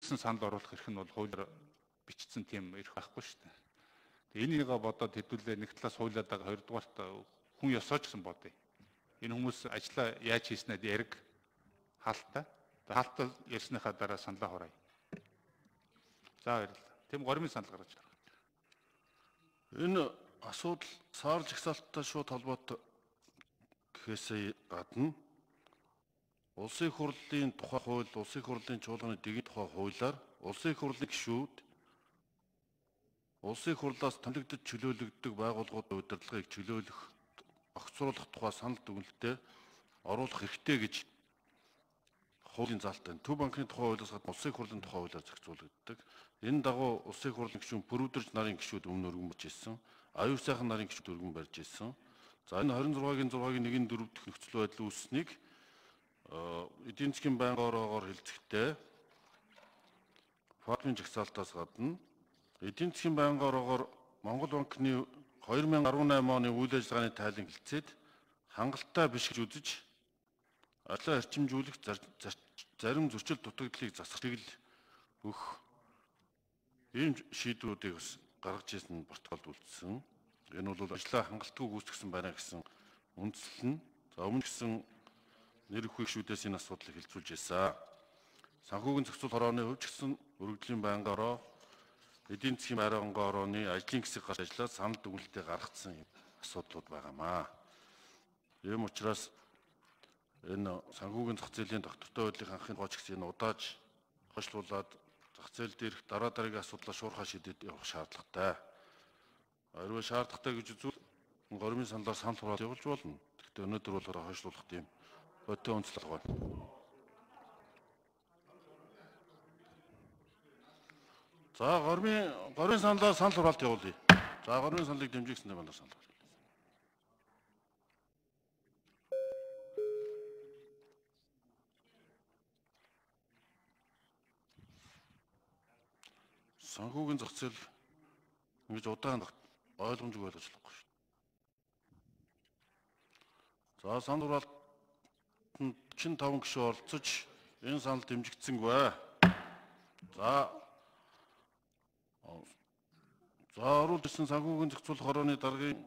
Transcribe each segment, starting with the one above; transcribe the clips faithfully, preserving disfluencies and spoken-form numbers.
санал оруулах эрх нь бол хуулиар бичсэн тийм эрх байхгүй шүү дээ. Энийг бодоод хэдүүлээ нэг талаас хуулиад байгаа, хоёрдугаарт хүн ёсоо ч гэсэн бодъё. Энэ хүмүүс ажлаа яаж хийснээр яриг хаалттай. Хаалттай ярьсныхаа дараа саналаа хураая. За баярлалаа. Тийм горимын санал гаргаж байна. Энэ асуудал саарл жагсаалттай шууд холбоотой гэхээсээ гадна улсын их хурлын тухай хууль, улсын их хурлын чуулганы дэгийн тухай хуулиар улсын их хурлын гишүүд улсын их хурлаас томилогдож чөлөөлөгддөг байгууллагуудын удирдлагыг чөлөөлөх, огцруулах тухай санал дүгнэлтэд оруулах хэрэгтэй гэж хуулийн заалттай. Төв банкны тухай хуулиас гадна улсын их хурлын тухай хуулиар зохицуулагддаг. Энэ дагуу улсын их хурлын гишүүн бүрүүдэрч нарын гишүүд өмнө өргөн барьж ирсэн. Аюул сайхан нарын гишүүд өргөн барьж ирсэн. За энэ двадцать sáu-гийн зургагийн нэгэн дөрөв дэх нөхцөл байдал үүссэнийг эдийн засгийн байнгын ороогоор хэлцэхдээ фактын жагсаалтаас гадна эдийн засгийн байнгын ороогоор Монгол банкны две тысячи десять оны үйл ажиллагааны тайлан хэлцээд хангалттай биш гэж үзэж ажлаа эрчимжүүлэх зарим зөрчил дутагдлыг засахыг л өгөх ийм шийдвэрүүдийг бас гаргаж ирсэн протоколд үлдсэн. Энэ бол ажлаа хангалтгүй гүйцэтгэсэн байна гэсэн үндслэл нь. За өмнө гэсэн нэр өхөх шүүдээс энэ асуудлыг хэлцүүлж байсан. Санхүүгийн зохицол хорооны хувьд ч гэсэн өргөдлийн байнгын ороо, эдийн засгийн байнгын орооны ажлын хэсэг гарч ажиллаад санал дүгнэлтээ гаргацсан асуудлууд байгаамаа. Ийм учраас энэ санхүүгийн зах зээлийн доктортой байдлын анхны гооч гэсэн энэ удааж хойшлуулад зах зээл дээрх дараа дараагийн асуудлаа шуурхай шийдэж явах шаардлагатай. Хэрвээ шаардлагатай гэж үзвэл горимын саналаар санал хураалт явуулж болно. Гэхдээ өнөөдөр бол хойшлуулах тийм өтөө онцлог байна. За горимын горимын саналаар санал хураалт явуулъя. За горимын саналыг дэмжигчсэн байна санал. Санхүүгийн зах зээл ингэж удаан ойлгомжгүй ойлгож болохгүй шүү. За санал хураалтанд45 гишүүн оролцож энэ санал дэмжигдсэнгүй. За За оруулж ирсэн санхүүгийн зохицуулах хорооны даргын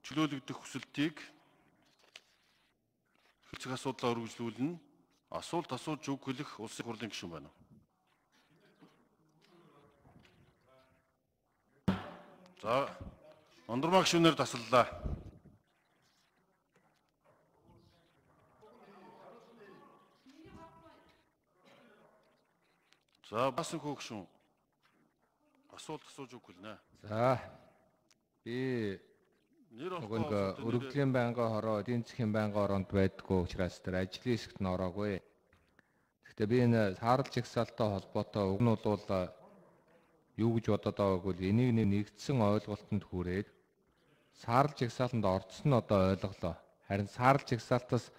чөлөөлөгдөх хүсэлтийг хэлцэх асуудлаа үргэлжлүүлнэ. Асуулт асууж үг хэлэх улсын их хурлын гишүүн байна. За Ондормаа гишүүнээр тасаллаа. За басан хөө гишүүн асуулт асууж үг хэлнэ. За би нөгөө өргөдлийн байнгын хороо, эдийн засгийн байнгын ороонд байдгүй учраас тэр ажлын хэсэгт нь ороогүй. Гэхдээ би энэ саарл жагсаалттай холбоотой уг нь бол юу гэж бодоод байгааг бол энийг нэгдсэн ойлголтод хүрээд саарл жагсаалтанд орцсон нь одоо ойлголоо. Харин саарл жагсаалтаас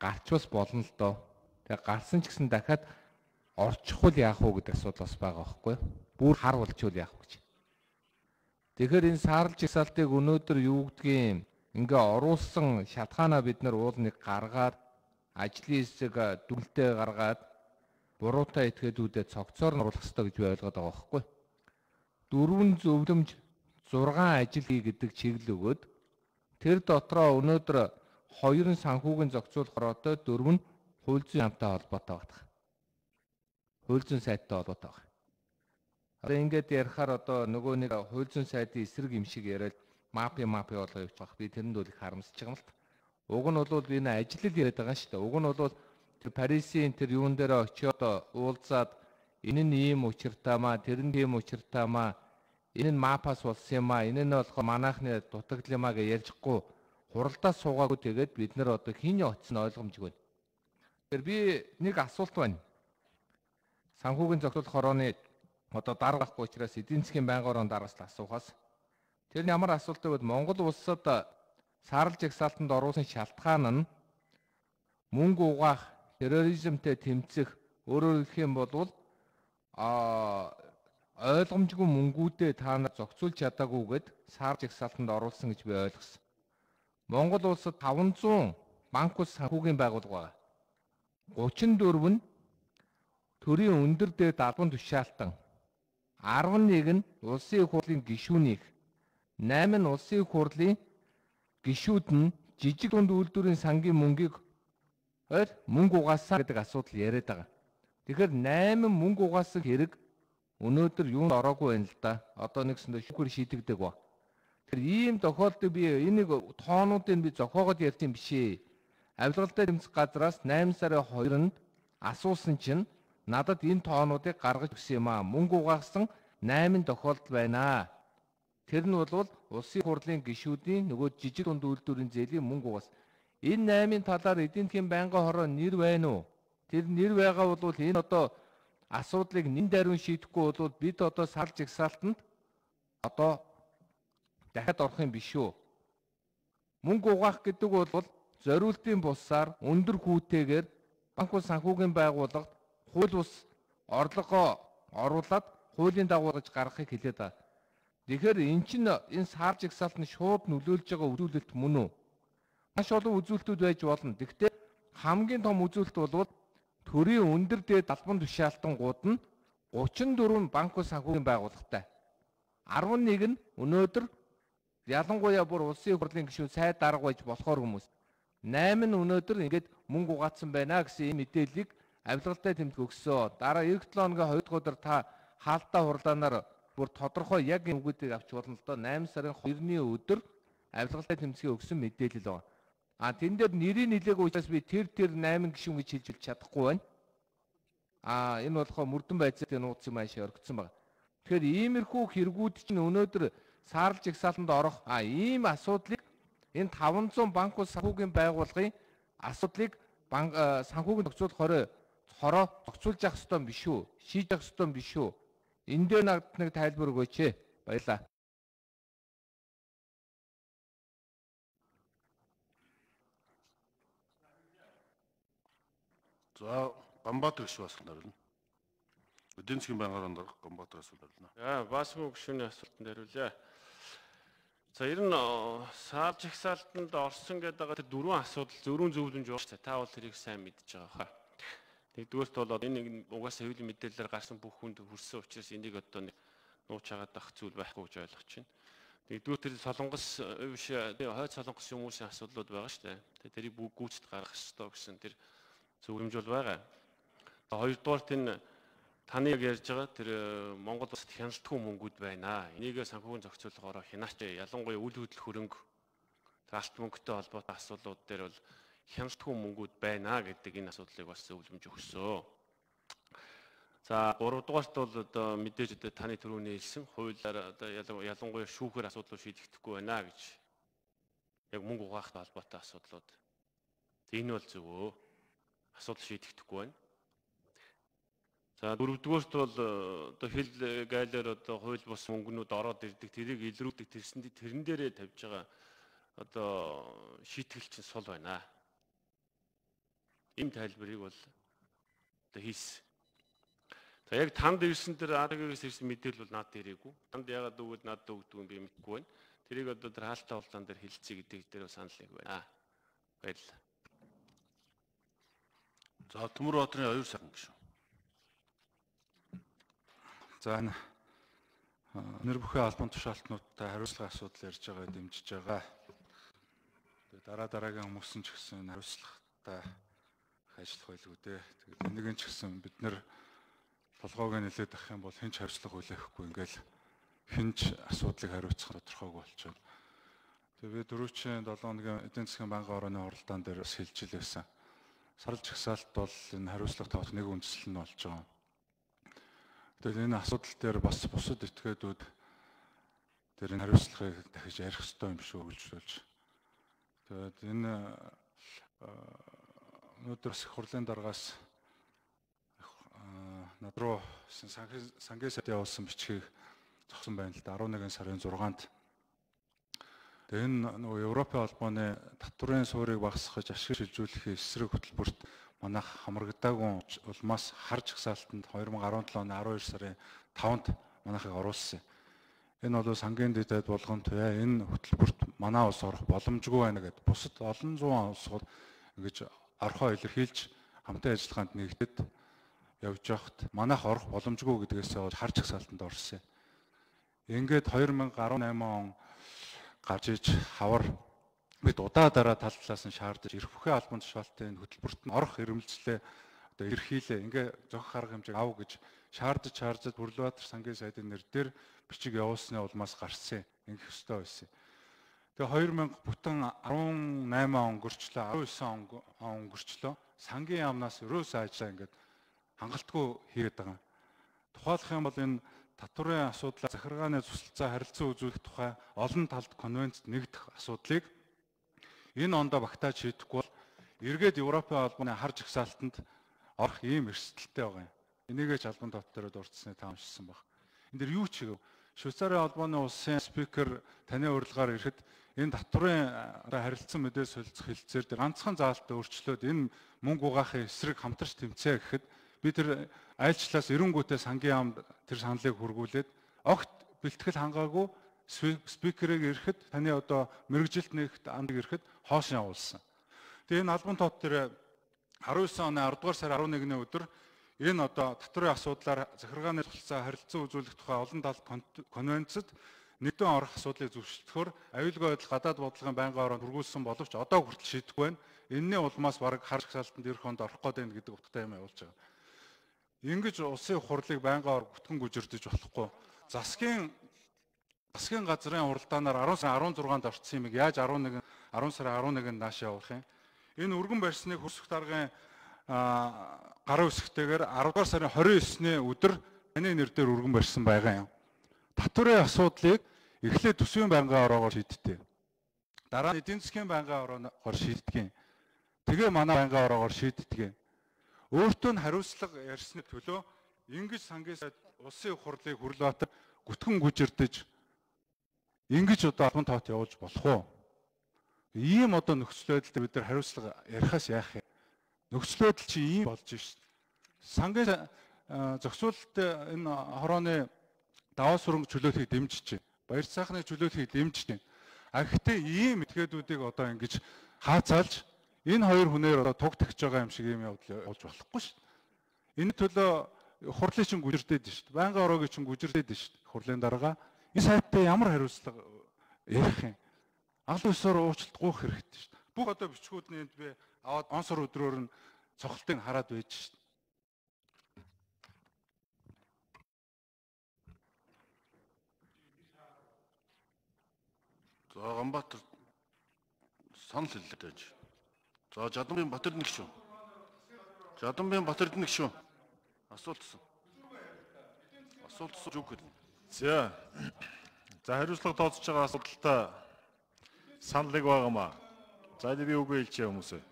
гарч бас болно л доо. Тэгээ гарсан ч гэсэн дахиад орчихвол яах вэ гэдэг асуудал бас байгаа байхгүй юу? Бүр хар болчихвол яах вэ гэж. Тэгэхээр энэ саарл жагсаалтыг өнөөдөр юу гэдгийг ингээ оруулсан шалтгаанаа бид нар уул нэг гаргаад ажлын хэсэг дүнэлтээ гаргаад буруутай этгээдүүдэд цогцоор нь оруулах хэрэгтэй гэж би ойлгоод байгаа байхгүй юу? Дөрвөн зөвлөмж зургаан ажил хий гэдэг чиглэл өгөөд тэр дотроо өнөөдөр хоёр нь санхүүгийн зохицуулах хороотой, дөрөв нь хууль зүйн хамтаа холбоотой байдаг. Хууль зүйн сайттай холбоотой байна. Одоо ингээд ярихаар одоо нөгөө нэг хууль зүйн сайдын эсрэг юм шиг яриад мапи мапи болгоо явж байгаа. Би тэрэнд бол их харамсаж байгаа юм л та. Уг нь бол би энэ ажил яриад байгаа шүү дээ. Уг нь бол тэр Парисын тэр юун дээр очиод уулзаад энэ нь ийм учиртай маа, тэр нь ийм учиртай маа, энэ нь мапас болсон юм аа, энэ нь болохоор манайхны дутагдал юм аа гэж ярьжихгүй хуралдаа суугаагүй тэгээд бид нар одоо хин очсон ойлгомжгүй. Тэгэхээр би нэг асуулт байна. Санхүүгийн зохицуулах хорооны одоо дарга байхгүй учраас эдийн засгийн байнгын орон даргаас л асуухаас тэр нь ямар асуулт вэ? Монгол улсад саарл жагсаалтанд оруулсан шалтгаан нь мөнгө угаах, терроризмтэй тэмцэх, өөрөөр хэлэх юм бол а ойлгомжгүй мөнгүүдээ та нар зохицуулж чадаагүйгээд саарл жагсаалтанд оруулсан гэж би ойлгосон. Монгол улсад таван зуун банк ус санхүүгийн байгууллага байна. гучин дөрөв нь төрийн өндөр дээд албан тушаалтан, арван нэг нь улсын их хурлын гишүүнийг, найман нь улсын их хурлын гишүүд нь жижиг дунд үйлдвэрийн сангийн мөнгийг ойр мөнгө угаасаа гэдэг асуудал яриад байгаа. Тэгэхээр найман мөнгө угаасан хэрэг өнөөдөр юунд ороогүй байна л да. Одоо нэгсэндээ шүүхээр шийдэгдэг ба. Тэгэхээр ийм тохиолдолд би энийг тоонуудыг би зохиогоод ярьсан биш ээ. Авилгалтай тэмцэх газраас найман сарын хоёрнд асуусан чинь надад энэ тоонуудыг гаргаж өгсөн юм аа. Мөнгө угаасан найман тохиолдол байна. Тэр нь бол улсын хурлын гишүүдийн нөгөө жижиг дунд үйлдвэрийн зээлийн мөнгө угаас. Энэ наймын талаар эдийн засгийн байнгын хороо нэр байна уу? Тэр нэр байгаа бол энэ одоо асуудлыг нэн даруун шийдэхгүй бол бид одоо сар жагсаалтанд одоо дахиад орох юм биш үү? Мөнгө угаах гэдэг бол зориултын бусаар өндөр хүүтэйгээр банк ус санхүүгийн байгууллагад хууль бус орлогоо оруулаад хуулийн дагуу гэж гаргахыг хэлээд байна. Тэгэхээр эн чинь энэ сар жагсаалтанд шууд нөлөөлж байгаа үзүүлэлт мөн үү? Маш олон үзүүлэлтүүд байж болно. Гэхдээ хамгийн том үзүүлэлт бол төрийн өндөр дээд албан тушаалтангууд нь гучин дөрвөн банк ус санхүүгийн байгууллагатай. арван нэг нь өнөөдөр ялангуяа бүр улсын их хурлын гишүүн сайд дарга байж болохоор хүмүүс. найман нь өнөөдөр ингээд мөнгө угаацсан байна гэсэн ийм мэдээллийг авилгалтай тэмдэг өгсөн. Дараа эх долоо хоногийн хоёр дахь өдөр та хаалттай хурлаанаар бүр тодорхой яг энэ үгүүдийг авч болно л доо. найман сарын хоёрны өдөр авилгалтай тэмцгийн өгсөн мэдээлэл байна. А тэн дээр нэрийн нэлээгүй учраас би тэр тэр найман гишүүн гэж хэлж чадахгүй байна. А энэ болохоо мөрдөн байцаатай нууц юм аашаа оргицсан байна. Тэгэхээр иймэрхүү хэрэгүүд чинь өнөөдөр саарлж жагсаалтанд орох а ийм асуудлыг энэ таван зуун банк ус санхүүгийн байгууллагын асуудлыг санхүүгийн зохицуулах хорой хороо зохицуулж явах ёстой юм биш үү? Шийдэж явах ёстой юм биш үү? Энд дээр надад нэг тайлбар өгөөч ээ. Баярлалаа. За, Гамбат гишүүн асуулт хариулна. Эдийн засгийн байнгын орон Гамбат асуулт хариулна. За, Баасмын гишүүний асуултанд хариулъя. За, ер нь сар жагсаалтанд орсон гэдэг байгаа тэр дөрвөн асуудал зөрүүн зөвлөмж уурч та бол тэрийг сайн мэдж байгаа хаа. Нэгдүгээрт бол энэ угаасаа хуулийн мэдээлэлээр гарсан бүх хүнд хүрсэн учраас энийг одоо нэг нууц хагаад авах зүйл байхгүй гэж ойлгож байна. Нэгдүгээр тэр солонгос биш хойд солонгос хүмүүсийн асуудлууд байгаа шүү дээ. Тэрийг бүгд гүйцэд гаргах ёстой гэсэн тэр зөвлөмж бол байгаа. Хоёрдугаарт энэ таны яг ярьж байгаа тэр Монгол улсад хяналтгүй мөнгүүд байна. Энийг санхүүгийн зохицуулахаараа хянаач ялангуяа үйл хөдлөх хөрөнгө алт мөнгөтэй холбоотой асуудлууд дээр бол хяналтгүй мөнгүүд байна гэдэг энэ асуудлыг бас зөвлөмж өгсөн. За гуравдугаарт бол одоо мэдээж одоо таны түрүүний хэлсэн хуулиар одоо ялангуяа шүүхээр асуудлууд шийдэгдэхгүй байна гэж яг мөнгө угаахтай холбоотой асуудлууд. Энэ бол зөвөө асуудал шийдэгдэхгүй байна. За дөрөвдүгээрт бол одоо хил гайлаар одоо хууль бус мөнгнүүд ороод ирдэг тэрийг илрүүлдэг тэрсэн тэрэн дээрээ тавьж байгаа одоо шийтгэл чинь сул байна. Ийм тайлбарыг бол одоо хийсэн. За яг танд ирсэн тэр АДГ-ээс ирсэн мэдээлэл бол надад ирээгүй. Танд ягаад өгөөд надад өгдөг юм би мэдэхгүй байна. Тэрийг одоо тэр хаалттай хурлаан дээр хэлцээ гэдэг дээр санал нэг байна. Баярлалаа. За Төмөр Баатрын аюул сайхан гишүүн. За нэр бүхэн албан тушаалтнуудтай хариуцлага асуудал ярьж байгаа дэмжиж байгаа. Тэгээ дараа дараагийн хүмүүс ч гэсэн хариуцлагатай ажиллах байлгүй дээ. Тэгээд энийг ч гэсэн бид нэр толгойг нэлээд авах юм бол хэн ч хариуцлага хүлээхгүй ингээл хэн ч асуудлыг хариуцах тодорхойг болчихно. Тэгээ би дөрөвчийн долоо хоногийн эдийн засгийн байнгын орооны оролдоон дээр бас хэлж илээсэн. Сарлж жагсаалт бол энэ хариуцлага тавах нэг үндсэл нь болж байгаа. Тэгэхээр энэ асуудал дээр бас бусад этгээдүүд тэр энэ хариуцлагыг дахиж ярих хэрэгтэй юм шүү гэж болж. Тэгээд энэ өнөөдөр их хурлын дараагаас над руу сангийн сайд явуулсан бичгийг зогсон байна л да арван нэгэн сарын зургаанд. Тэгээд энэ нөгөө Европын холбооны татврын суурийг багасгах ашиг шилжүүлэхийн эсрэг хөтөлбөрт манайх хамрагдаагүй улмаас харж жагсаалтанд хоёр мың арван долооны арван хоёр сарын таванд манайхыг оруулсан. Энэ бол сангийн дэдэд болгон туяа энэ хөтөлбөрт манай улс орох боломжгүй байна гэд бусад олон зуун улсууд ингэж орхоо илэрхийлж хамтын ажиллагаанд нэгдээд явж байхад манайх орох боломжгүй гэдгээс харж ихсаалтанд орсон. Ингээд хоёр мянга арван найман он гарч иж хавар бид удаа дараа тал талаас нь шаардаж ирэх бүхэн албан тушаалтын хөтөлбөрт нь орох ирэмжлээ одоо эрхийлээ. Ингээ зохих арга хэмжээг ав гэж шаардаж шаардаж Бүрлбаатар сангийн сайдын нэр дээр бичиг явуулсны улмаас гарсан. Ингэх ёстой байсан. Тэгээ хоёр мянга бүтэн арван найман он өнгөрчлөө, арван девять он өнгөрчлөө. Сангийн яамнаас ерөөсөө ажиллаа ингээд хангалтгүй хийгээд байгаа. Тухайлах юм бол энэ татварын асуудлаа захиргааны цусалцаа харилцан үзүүлэх тухай олон талд конвенцэд нэгдэх асуудлыг энэ ондоо багтааж шийдэхгүй бол эргээд Европын албаны хар жагсаалтанд орох ийм эрсдэлтэй байгаа юм. Энийгээ ч албан товт дээр дурдсны таамшилсан баг. Энд дэр юу ч хийв. Швейцарын албаны улсын спикер таны урилгаар ирэхэд энэ татварын харилцан мэдээ солилцох хэлцээр дээр ганцхан заалтаа өөрчлөөд энэ мөнгө угаахын эсрэг хамтарч тэмцэе гэхэд бид тэр айлчлаас эренгүүтээ сангийн яамд тэр саналыг хургуулээд огт бэлтгэл хангаагүй спикерийг ирэхэд таны одоо мэрэгжилт нэгт анд ирэхэд хоошин явуулсан. Тэгээ энэ албан товт дээр арван девять оны арда дугаар сарын арван нэгний өдөр энэ одоо татварын асуудлаар захиргааны цуцлцаа харилцан үзүүлэх тухай олон талт конвенцэд нэгдэн орох асуудлыг зөвшөлдөхөөр аюулгүй байдал гадаад бодлогын байнгын ороонд хүргүүлсэн боловч одоо хүртэл шийдэхгүй байна. Энэний улмаас бараг хар жагсаалтанд ирэх онд орох гээд байна гэдэг утгатай юм явуулж байгаа. Ингэж улсын хурлыг байнгын ор бүтгэн гүжирдэж болохгүй. Засгийн засгийн газрын уралдаанаар арван сарын арван зургаанд орцсон юмыг яаж арван нэгэн арван сарын арван нэгэнд нааш явуулах юм? Энэ өргөн барьсны хөрсөх даргын гараа үсгтэйгээр арва дугаар сарын хорин девятний өдөр таны нэр дээр өргөн барьсан байгаа юм. Татварын асуудлыг эхлээд төсвийн байнгын ороогоор шийдтээ. Дараа нь эдийн засгийн байнгын ороогоор шийддэг. Тэгээ манай байнгын ороогоор шийддэг. Өөртөө нь хариуцлага ярьсны төлөө ингэж сангийн сайд улсын хурлыг Бүрлбаатар гүтгэн гүжирдэж ингэж одоо албан тоот явуулж болох уу? Ийм одоо нөхцөл байдлаар бид нар хариуцлага ярихаас яах юм? Нөхцөл байдал чи ийм болж шít. Сангийн зохицуулалт энэ хорооны даваа сүрэнг чөлөөлөхийг дэмжиж байна. Баяр цаахны чөлөөлөхийг дэмжиж байна. А гэхдээ ийм этгээдүүдийг одоо ингэж хаацаалж энэ хоёр хүнээр одоо туг тагж байгаа юм шиг юм явдал болж болохгүй шүү дээ. Энэ төлөө хурлын чинь гүжирдээд шүү дээ. Байнгын ороогийн чинь гүжирдээд шүү дээ. Хурлын дарга энэ сайттай ямар хариуцлага ярих юм? Аль ёсоор уучлалт гуйх хэрэгтэй шүү дээ. Бүх одоо бичгүүдний энд би аваад онсор өдрөөр нь цохолтыг хараад байж шүү дээ. За Ганбаатар санал хэллээ дэж. За Жадамбын Батэрд нэг шүү. Жадамбын Батэрд нэг шүү. Асуултсан. Асуултсан юу гэдэг. За. За хариуцлага тооцож байгаа асуудалтай саналыг байгаамаа. За би үгүй хэлчихье хүмүүсээ.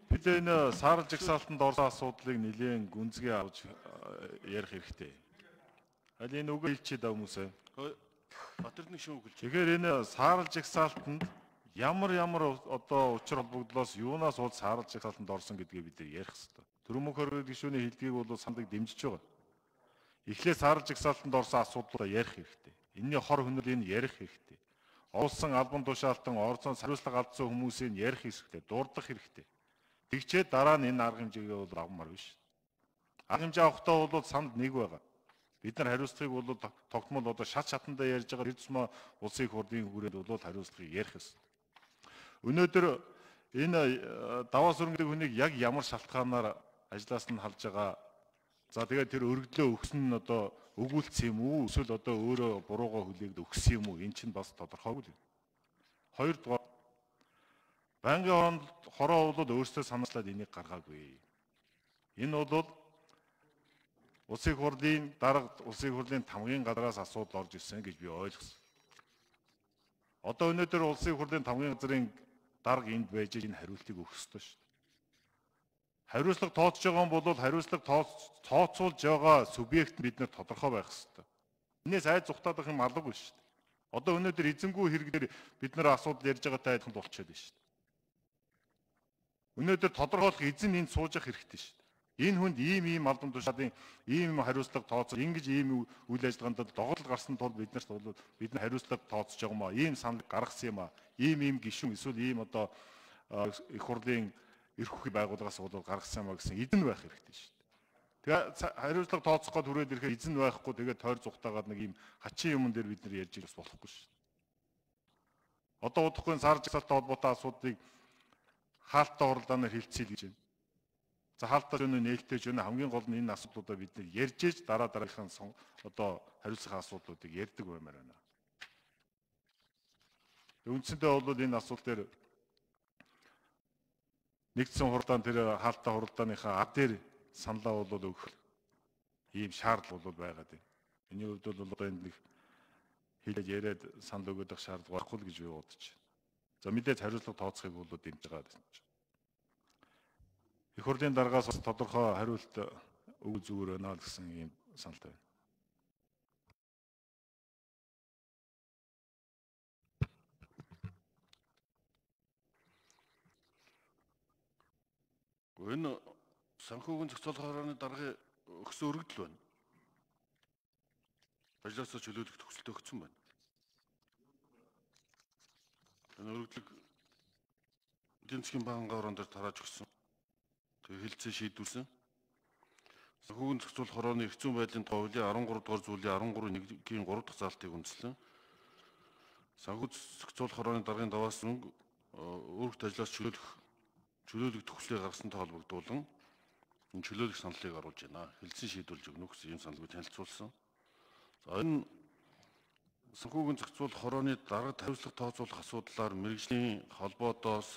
Бид энэ саарл жагсаалтанд орсон асуудлыг нэлээд гүнзгий авч ярих хэрэгтэй. Аль энэ үгүй хэлчихье даа хүмүүсээ. Батэрд нэг шүү гэлж. Тэгэхээр энэ саарл жагсаалтанд ямар ямар одоо учир холбогдлоос юунаас ууд саарл жагсаалтанд орсон гэдгийг бид ярих хэрэгтэй. Төрөмөх хоригдох гишүүний хэлдгийг бол саналыг дэмжиж байгаа. Эхлээд саарл жагсаалтанд орсон асуудлуудаа ярих хэрэгтэй. Энийний хор хөнөөлийг ярих хэрэгтэй. Олсон албан тушаалтан орцон хариуцлага алдсан хүмүүсийг ярих хэрэгтэй, дурдах хэрэгтэй. Тэгчээд дараа нь энэ арга хэмжээгээ бол авмаар биш. Арга хэмжээ авахдаа бол санд нэг байгаа. Бид нар хариуцлагыг бол тогтмол одоо шат шатандаа ярьж байгаа эрдэсмэ улсын их хурлын хүрээнд бол хариуцлагыг ярих ёстой. Өнөөдөр энэ даваа сүрэнгийн хүнийг яг ямар шалтгаанаар ажлаас нь халж байгаа. За тэгээд тэр өргөдлөө өгсөн нь одоо өгүүлсэн юм уу? Эсвэл одоо өөрөө буруугаа хүлээгд өгсөн юм уу? Энэ чинь бас тодорхойгүй л. Хоёрдугаар байнгын оронд хороо бол өөрсдөө санаачлаад энийг гаргаагүй. Энэ бол улсын хурлын дарга улсын хурлын тамгын газраас асуудал орж ирсэн гэж би ойлгосон. Одоо өнөөдөр улсын хурлын тамгын газрын дарга энд байж энэ хариултыг өгөх ёстой шүү дээ. Хариуцлага тооцож байгаа юм бол хариуцлага тооцоолж байгаа субъект бид нэр тодорхой байх ёстой. Энээс айд зүхтаадах юм алгагүй шүү дээ. Одоо өнөөдөр эзэнгүй хэрэглэр бид нэр асуудал ярьж байгаатай адилхан болчиход байна шүү дээ. Өнөөдөр тодорхойлох эзэн энд сууж явах хэрэгтэй шүү дээ. Энэ хүнд ийм ийм албан тушаалын ийм ийм хариуцлага тооцоо ингэж ийм үйл ажиллагаанд доголдол гарсан тул бид нарт бол бид нар хариуцлага тооцож байгаа юм аа. Ийм санал гаргасан юм аа. Ийм ийм гишүүн эсвэл ийм одоо их хурлын эрх үхий байгууллагаас бол гаргасан юмаа гэсэн эзэн байх хэрэгтэй шүү дээ. Тэгээ хариуцлага тооцох гээд хүрээд ирэхээр эзэн байхгүй тэгээд тойр зүгтаагаад нэг юм хачин юмн дээр бид нар ярьж ирэх болохгүй шүү дээ. Одоо удахгүй сар жагсаалтай холбоотой асуудлыг хаалттай уралдаанаар хилцээл гэж байна. За хаалттай өнөө нээлттэй жөнө хамгийн гол нь энэ асуудлуудаа бид нар ярьж ээж дараа дараагийнхаа одоо хариуцлага асуудлуудыг ярьдаг баймаар байна. Үндсэндээ бол энэ асуулт дээр нэгдсэн хуралдаан тэр хаалттай хуралдааныхаа ад дээр саналаа бол өгөх ийм шаардлага бол байгаад байна. Миний хувьд бол одоо энэ нэг хэлээд яриад санал өгөх шаардлага байхгүй л гэж би бодож байна. За мэдээж хариуцлага тооцохыг бол дэмжиж байгаа гэсэн чинь. Их хурлын дараагаас бас тодорхой хариулт өгөх зүгээр байна гэсэн ийм саналтай байна. Энэ санхүүгийн зохицуулах хорооны даргын өгсөн өргөдөл байна. Ажлаасаа чөлөөлөх төгсөлт өгсөн байна. Энэ өргөдлөг эдийн засгийн банкны орон дээр тарааж өгсөн. Тэгээ хэлцээ шийдвэрсэн. Санхүүгийн зохицуулах хорооны эрх зүйн байдлын тухай хуулийн арван гурав дугаар зүйлийн арван гурав нэггийн гурав дахь заалтыг үндэслэн санхүүгийн зохицуулах хорооны даргын даваас мөнгө өргөт ажлаас чөлөөлөх чөлөөлөх төгслийг гаргасантай холбогдуулан энэ чөлөөлөх саналыг оруулж байна. Хэлцэн шийдвэрлэж өгнө гэсэн ийм саналыг танилцуулсан. За энэ санхүүгийн зохицуулах хорооны дарагт хариуцлага тооцоолох асуудлаар мэргэжлийн холбоодоос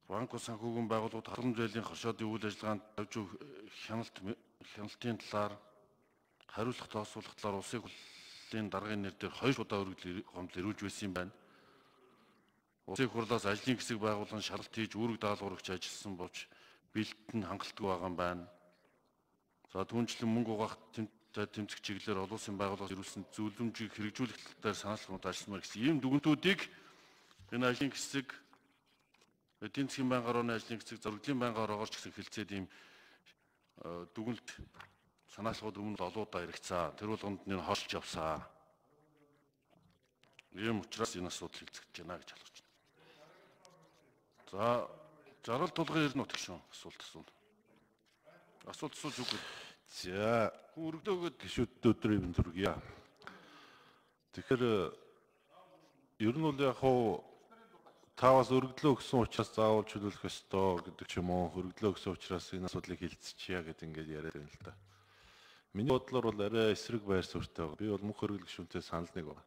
банк санхүүгийн байгууллагууд халамж байлын хошоодын үйл ажиллагаанд тавьж өгөх хяналт хяналтын талаар хариуцлага тооцоолох талаар улсын хурлын даргын нэр дээр хоёр удаа өргөдөл гомдол ирүүлж байсан юм байна. Улсын хурлаас ажлын хэсэг байгуулан шалгалт хийж үүрэг даалгаврагч ажилласан болж бэлтэн хангалтгүй байгаа юм байна. За түүнчлэн мөнгө угаах тэмцэх чиглэлээр олон улсын байгууллагаас ирүүлсэн зөвлөмжийг хэрэгжүүлэх талаар санаалгууд ажилласмаар гэсэн ийм дүгнэлтүүдийг энэ ажлын хэсэг эдийн засгийн банк орооны ажлын хэсэг зөрөглийн банк ороогоор ч гэсэн хэлцээд ийм дүгнэлт санаалгууд өмнө олоодаа иргэцээ. Тэр болгонд нь холж явсаа. Ийм учраас энэ асуудал хэлцэж байна гэж ойлгож байна. За жаргал тулгын ер нь утга шүү асуулт асуул. Асуулт асууж үгүй. За хүн өргөдөөгөөд гişүүд өдрийн юм зүргийа. Тэгэхээр ер нь бол яг хуу таваас өргөдлөө өгсөн учраас заавал чөлөөлөх ёстой гэдэг ч юм уу, өргөдлөө өгсөн учраас энэ асуудлыг хилцчихъя гэдэг ингээд яриад байна л да. Миний бодлоор бол арай эсрэг байр суурьтай байгаа. Би бол мөнх хөргөл гишүүнтэй санал нэг байна.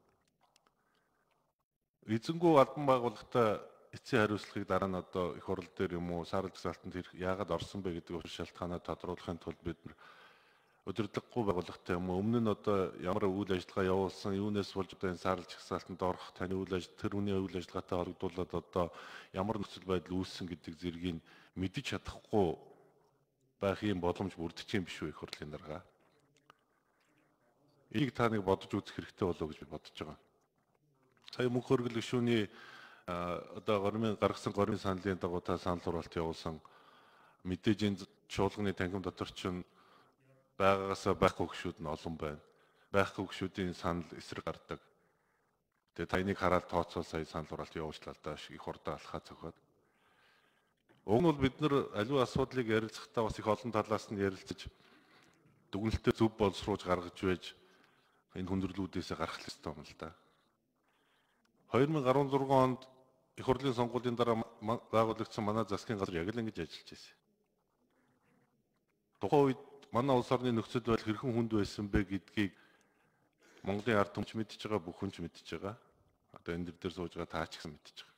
Эзэнгүү албан байгууллагатай эцсийн хариуцлагыг дараа нь одоо их хурл дээр юм уу, саарл жагсаалтанд яагаад орсон бэ гэдэг учир шалтгаанаа тодруулахын тулд бид нар удирдлаггүй байгууллагатай юм уу, өмнө нь одоо ямар үйл ажиллагаа явуулсан, юунаас болж одоо энэ саарл жагсаалтанд орох, таны үйл ажиллагаа, тэр үний үйл ажиллагаатай холбогдуулаад одоо ямар нөхцөл байдал үүссэн гэдэг зэргийг мэдэж чадахгүй байх юм боломж бүрдэж юм биш үү их хурлын дарга. Энийг та нэг бодож үзэх хэрэгтэй болов уу гэж би бодож байгаа. Сая мөнх хөргөл гишүүний одоо гормын гаргасан гормын саналын дагуу та санал хураалт явуулсан мэдээж энэ чуулганы танхим дотор ч байгаагаас байхгүй гишүүд нь олон байна. Байхгүй гишүүдийн санал эсрэг гардаг. Тэгээ та энийг хараад тооцоол сая санал хураалт явуулчлаа л да их хурдан алхаа цохоод. Уг нь бол бид нар аливаа асуудлыг ярилцахдаа бас их олон талаас нь ярилцаж дүгнэлтээ зөв боловсруулж гаргаж байж энэ хүндрэлүүдээс гарах хэрэгтэй юм л да. хоёр мянга арван зургаан онд их хурлын сонгуулийн дараа байгуулагдсан манай засгийн газар яг л ингэж ажиллаж байсан. Тухайн үед манай улс орны нөхцөл байдал хэрхэн хүнд байсан бэ гэдгийг Монголын ард түмч мэдж байгаа, бүх хүн ч мэдж байгаа. Одоо энэ дээр сууж байгаа таа ч гэсэн мэдж байгаа.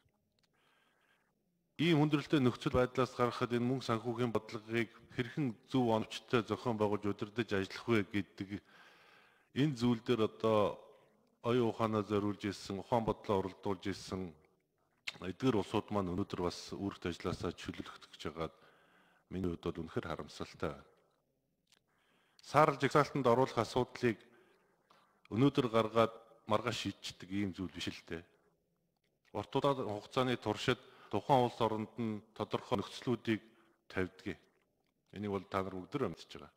Ийм хүндрэлтэй нөхцөл байдлаас гаргахад энэ мөнгө санхүүгийн бодлогыг хэрхэн зөв оновчтой зохион байгуулж удирдах ажиллах вэ гэдэг энэ зүйл дээр одоо оюун ухаанаа зориулж ирсэн, ухаан бодлоо уралдуулж ирсэн эдгээр улсууд маань өнөөдөр бас үүрэгт ажилласаа чөлөөлөх гэж байгаад миний хувьд бол үнэхээр харамсалтай байна. Саарл жагсаалтанд оруулах асуудлыг өнөөдөр гаргаад маргааш шийдчихдэг ийм зүйл биш л дээ. Урт хугацааны туршид тухайн улс оронд нь тодорхой нөхцлүүдийг тавьдаг. Энийг бол та нар бүгд мэдж байгаа.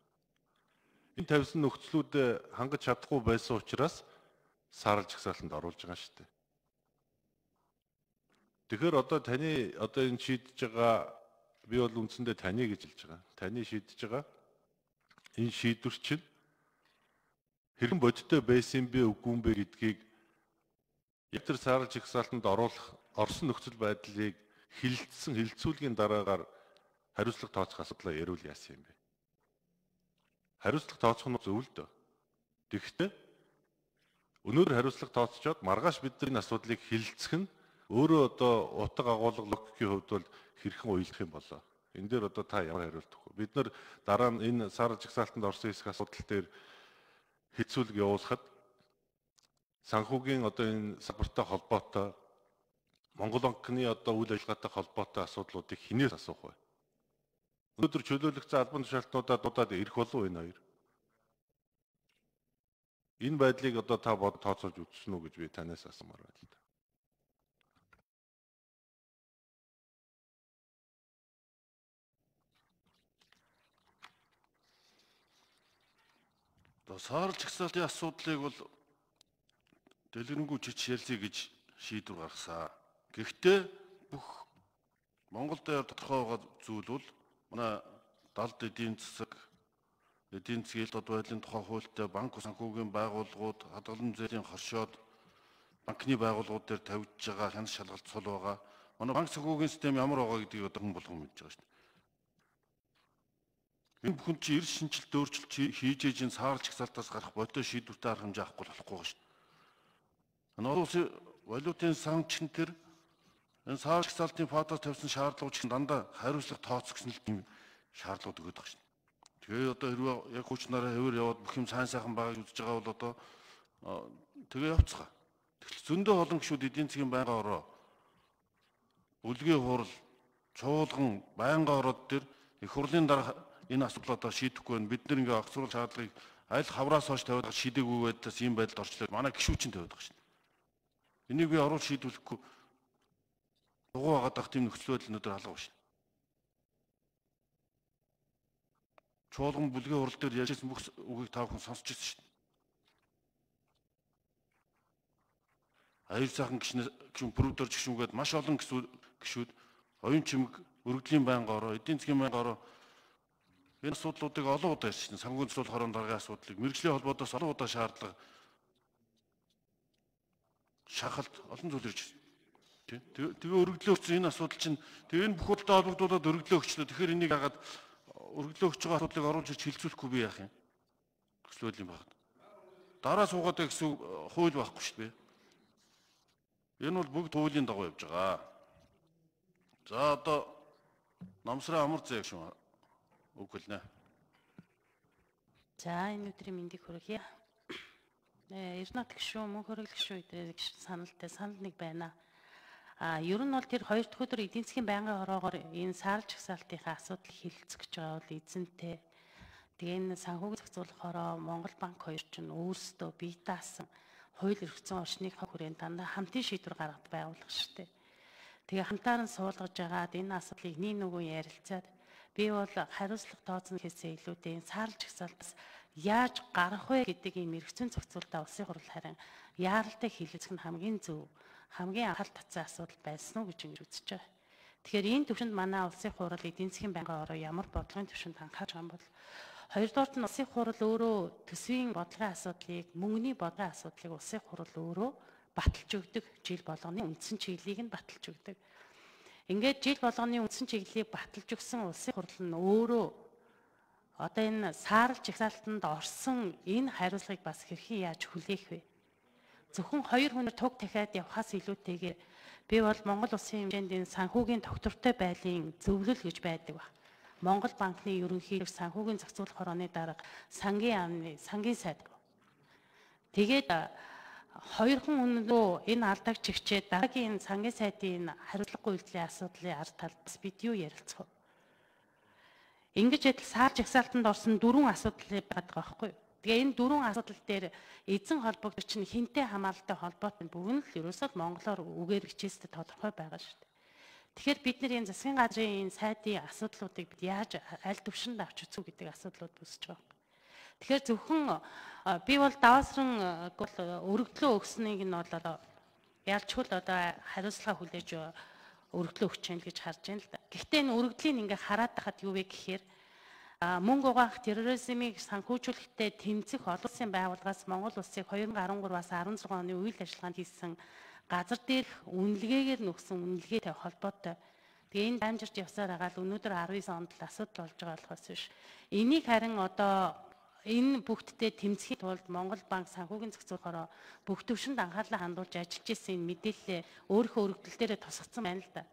Энэ тавьсан нөхцлүүдэд хангаж чадахгүй байсан учраас саарл жагсаалтанд оруулж байгаа шүү дээ. Тэгэхээр одоо таны одоо энэ шийдэж байгаа би бол үндсэндээ таны гэж хэлж байгаа. Таны шийдэж байгаа энэ шийдвэр чинь хэрхэн бодиттой байсан бэ үгүй бэ гэдгийг яг тэр саарл жагсаалтанд оруулах орсон нөхцөл байдлыг хилцсэн хилцүүлгийн дараагаар хариуцлага тооцох асуудлаа ярил яасан юм бэ? Хариуцлага тооцох нь зөв л дөө. Тэгэхдээ өнөөдөр хариуцлага тооцоод маргааш бидний асуудлыг хилцэх нь өөрөө одоо утга агуулга логикийн хувьд бол хэрхэн уйлах юм болоо. Энэ дээр одоо та ямар хариулт өгөх вэ? Бид нар дараа нь энэ саарл жагсаалтанд орсон хэсэг асуудал дээр хилцүүлэг явуулахад санхүүгийн одоо энэ салбартай холбоотой Монгол банкны одоо үйл ажиллагаатай холбоотой асуудлуудыг хинээс асуух вэ? Өнөөдөр чөлөөлөгдсөн албан тушаалтнуудаа дуудаад ирэх болов уу энэ хоёр? Энэ байдлыг одоо та бод тооцоолж үзсэн үү гэж би танаас асуумаар байна л да. Одоо саарл жагсаалтын асуудлыг бол дэлгэрэнгүй чич ярилцъя гэж шийдвэр гаргасан. Гэхдээ бүх Монгол дээр тодорхой байгаа зүйл бол манай далд эдийн засаг, эдийн засгийн ил дод байдлын тухай хуультай банк санхүүгийн байгууллагууд, хадгалан зээлийн хоршоод банкны байгууллагууд дээр тавьж байгаа хяналт шалгалт цул байгаа. Манай банк санхүүгийн систем ямар байгаа гэдгийг одоо хэн болгон мэдж байгаа шүү дээ. Энэ бүхэн чи эрс шинжилт өөрчлөлт хийж ээж энэ саарл жагсаалтаас гарах бодтой шийдвэртэй арга хэмжээ авахгүй болохгүй шүү дээ. Энэ улсын валютын санкчн төр энэ саарл жагсаалтын фатаас тавьсан шаардлагууд чинь дандаа хариуцлага тооцох гэсэн л тийм шаардлагууд өгöd байгаа шүү дээ. Тэгээ одоо хэрвээ яг хүчнараа хэвээр яваад бүх юм сайн сайхан байгааг үзэж байгаа бол одоо тэгээ явцгаа. Тэгтэл зөндөө олон гишүүд эдийн засгийн байнгын ороо бүлгийн хурал чуулган байнгын ороод төр их хурлын дараа энэ асуудлуудаа шийдэхгүй байна. Бид нэр ингээ огцруулах шаардлагыг аль хавраас хойш тавиад шийдэггүй байдаас ийм байдалд орчлоо. Манай гишүүд чинь тавиад байгаа шүү дээ. Энийг би оруулж шийдвэрлэхгүй дугуй хагаад ах тийм нөхцөл байдал өнөдөр алга байна. Чуулган бүлгийн хурал дээр ярьжсэн бүх үгийг та бүхэн сонсч ирсэн шүү дээ. Аяр сайхан гишнэ гişүн бүрдэрч гişүнгээд маш олон гişүүд оюун чимэг өргөдлийн байнгын ороо, эдийн засгийн байнгын ороо энэ асуудлуудыг олон удаа ярьсан. Санхүүгийн цэцүүл хорон даргын асуудлыг мэргэжлийн холбоодоос олон удаа шаардлага шахалт олон зүйл ирж байна. Тэгээ өргөдлөө өгсөн энэ асуудал чинь тэгээ энэ бүх удаа холбогдуулаад өргөдлөө өгчлөө. Тэгэхээр энийг хагаад өргөдлөө өгч байгаа асуудлыг оруулж ирж хилцүүлэхгүй би яах юм? Гэтэл юм байна. Дараа суугаад гэсэн хууль байхгүй шүү дээ. Энэ бол бүгд хуулийн дагуу явж байгаа. За одоо намсрын амар зэв шүү. Үг хэлнэ. За энэ өдрийн мэндийг хүргье. Э Эрдэнэт гişүү мөн хөрөг гişүү эдрээ саналтай санал нэг байна. А ер нь бол тэр хоёр дахь өдөр эдийн засгийн байнгын ороогоор энэ саарл жагсаалтынхаа асуудал хилцэх гэж байгаа бол эзэнтэй. Тэгээ энэ санхүүгийн зохицуулахаараа Монгол банк хоёр ч нь өөрсдөө бие даасан хууль эрхцэн орчныхаа хүрээнд дандаа хамтын шийдвэр гаргад байгуулах штеп. Тэгээ хамтаар нь суулгаж агаад энэ асуудлыг нэг нүгэн ярилцаад би бол хариуцлага тооцно гэхээсээ илүүтэй энэ саарл жагсаалтаас яаж гарах вэ гэдэг ийм эрхцэн зохицуулалтаа улсын хурал харин яаралтай хилэлцэх нь хамгийн зөв, хамгийн анхаарал татсан асуудал байсан уу гэж ингэж үзэж байгаа. Тэгэхээр энэ төвшөнд манай улсын хурал эдийн засгийн байнгын ороо ямар бодлогын төвшөнд анхаарч байгаа юм бол хоёрдугаарт нь улсын хурал өөрөө төсвийн бодлогын асуудлыг, мөнгөний бодлогын асуудлыг улсын хурал өөрөө баталж өгдөг. Жил болгоны үндсэн чиглэлийг нь баталж өгдөг. Ингээд жил болгоны үндсэн чиглэлийг баталж өгсөн улсын хурал нь өөрөө одоо энэ саарл жагсаалтанд орсон энэ хариуцлагыг бас хэрхэн яаж хүлээх вэ? Зөвхөн хоёр хүнээр туг дахиад явхаас илүүтэйгээр би бол Монгол улсын хэмжээнд энэ санхүүгийн доктортой байлын зөвлөл гэж байдаг ба. Монгол банкны ерөнхийлөгч санхүүгийн зохицуулах хорооны дарга сангийн амны сангийн сайд. Тэгээд хоёр хүн өнөө энэ алдааг чигчээ дараагийн сангийн сайдын хариуцлагагүй үйлдэлийн асуудлын ард талд бас бид юу ярилцах вэ? Ингэж адил саарл жагсаалтанд орсон дөрвөн асуудал байдаг байхгүй юу? Тэгээ энэ дөрвөн асуудал дээр эзэн холбогдогч нь хинтээ хамааралтай холбоотой бүгд л ерөөсөө монголоор үгээр хичээстэй тодорхой байгаа шүү дээ. Тэгэхээр бид нэр энэ засгийн газрын энэ сайдын асуудлуудыг бид яаж аль төвшөнд авч үзэх гэдэг асуудлууд үүсэж байгаа. Тэгэхээр зөвхөн би бол даваасран өргөдлөө өгснгийг нь бол ялчгүй л одоо хариуцлага хүлээж өргөдлөө өгч яана гэж харж байна л да. Гэхдээ энэ өргөдлийн ингээ хараад тахад юу вэ гэхээр мөнгө угаах терроризмыг санхүүжүүлэхдээ тэмцэх олон улсын байгууллагаас Монгол улсыг two thousand thirteen-аас16 оны үйл ажиллагаанд хийсэн газар дээрх үнэлгээгээр нөхсөн үнэлгээтэй холбоотой. Тэгээ энэ дамжирч явсаар байгаа л өнөөдөр nineteen онд л асуудал болж байгаа болохоос биш. Энийг харин одоо энэ бүгдтэй тэмцэхийн тулд Монгол банк санхүүгийн зохицуулахаараа бүх төвшөнд анхаарлаа хандуулж ажиллаж ирсэн энэ мэдээлэлээ өөрийнхөө өргөдөл дээрээ тусгацсан байна л да.